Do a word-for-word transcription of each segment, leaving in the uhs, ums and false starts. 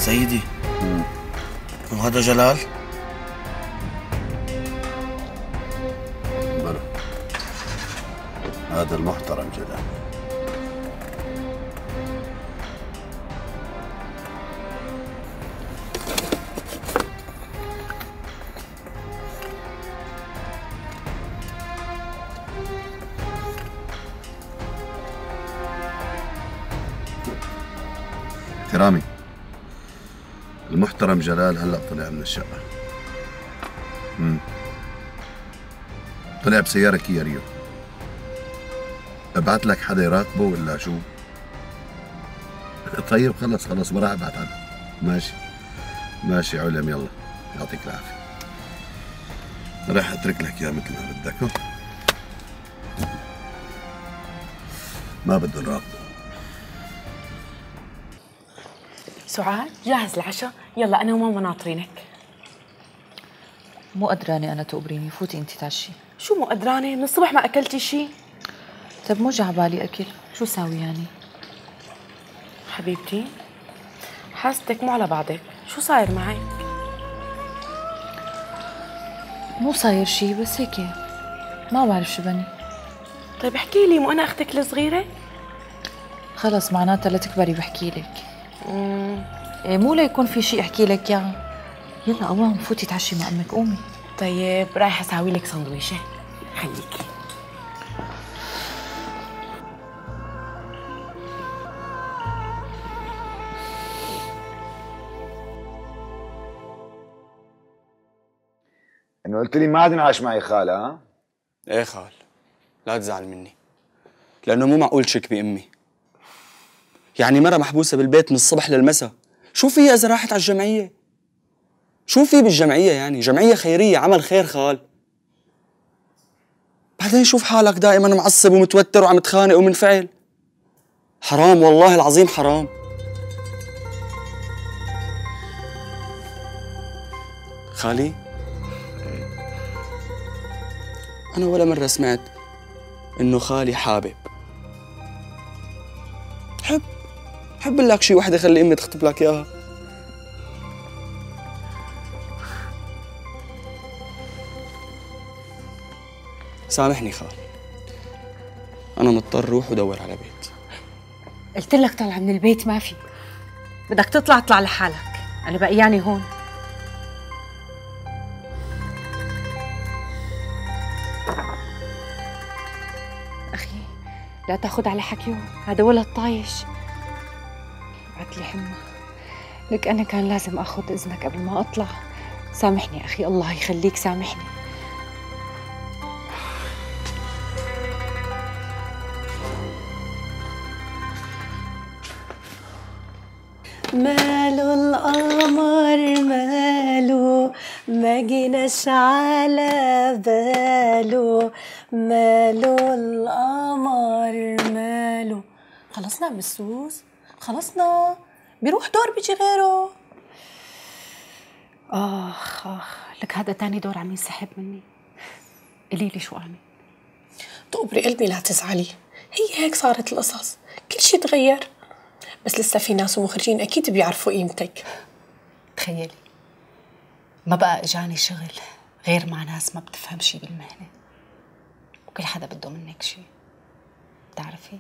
سيدي. وهذا جلال؟ بلى، هذا المحترم جلال. كرامي، المحترم جلال هلأ طلع من الشقة. امم طلع بسيارة كيا ريو. ابعت لك حدا يراقبه ولا شو؟ طيب خلص خلص ما راح ابعت عنه. ماشي ماشي علم، يلا يعطيك العافية. راح اترك لك اياه مثل ما بدك. ما بده نراقبه. سعاد جاهز العشاء؟ يلا أنا وماما ناطرينك. مو قدرانة أنا تقبريني، فوتي أنت تعشي. شو مو قدرانة؟ من الصبح ما أكلتي شي؟ طيب مو جا عبالي أكل، شو ساوي يعني؟ حبيبتي حاستك مو على بعضك، شو صاير معك؟ مو صاير شي بس هيك ما بعرف شو بني. طيب احكي لي، مو أنا أختك الصغيرة؟ خلص معناتها لتكبري بحكي لك. امم إيه مو ليكون في شي احكي لك اياه. يلا قوام فوتي تعشي مع امك، قومي. طيب رايحة اساوي لك سندويشة، خليكي. انه قلت لي ما عاد انعاش معي خال. ها؟ ايه خال، لا تزعل مني، لأنه مو معقول تشك بأمي. يعني مرة محبوسة بالبيت من الصبح للمساء، شو في إذا راحت على الجمعية؟ شو في بالجمعية يعني؟ جمعية خيرية، عمل خير خال. بعدين شوف حالك دائما معصب ومتوتر وعم تخانق ومنفعل. حرام والله العظيم حرام. خالي، أنا ولا مرة سمعت إنه خالي حابب. حب حب لك شي وحدة خلي أمي تخطب لك إياها. سامحني خال، أنا مضطر روح ودور على بيت. قلت لك طلع من البيت ما في، بدك تطلع اطلع لحالك، أنا بقياني هون. أخي لا تاخد على حكيه، هذا ولد طايش. بعت لي حمى، لك أنا كان لازم آخذ إذنك قبل ما أطلع. سامحني أخي، الله يخليك سامحني. ماله القمر ماله، ما جيناش على باله، ماله القمر ماله. خلصنا بالسوس، خلصنا، بيروح دور بيجي غيره. آخ آخ، لك هذا تاني دور عم ينسحب مني. قولي لي شو أعمل؟ تقبري قلبي لا تزعلي، هي هيك صارت القصص، كل شي تغير، بس لسه في ناس ومخرجين أكيد بيعرفوا قيمتك. تخيلي ما بقى إجاني شغل غير مع ناس ما بتفهم شي بالمهنة، وكل حدا بده منك شي. بتعرفي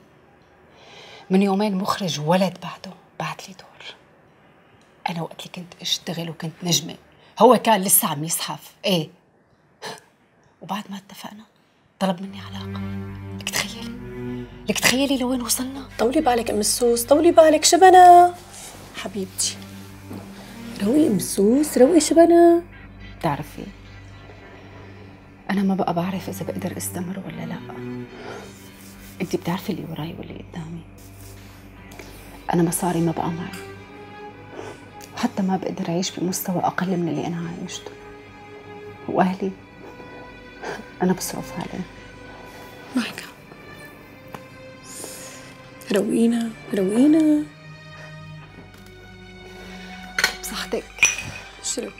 من يومين مخرج ولد بعده بعت لي دور. أنا وقت اللي كنت أشتغل وكنت نجمة هو كان لسه عم يزحف. إيه، وبعد ما اتفقنا طلب مني علاقة. لك تخيلي لك تخيلي لوين وصلنا. طولي بالك ام السوس، طولي بالك شبنا حبيبتي. روقي ام السوس، روقي شبنا. بتعرفي أنا ما بقى بعرف إذا بقدر استمر ولا لا. أنتي بتعرفي اللي وراي واللي قدامي. أنا مصاري ما بقى معي، وحتى ما بقدر أعيش بمستوى أقل من اللي أنا عايشته. وأهلي أنا بصرف عليه. معك حق. روقينا روقينا بصحتك. شرب.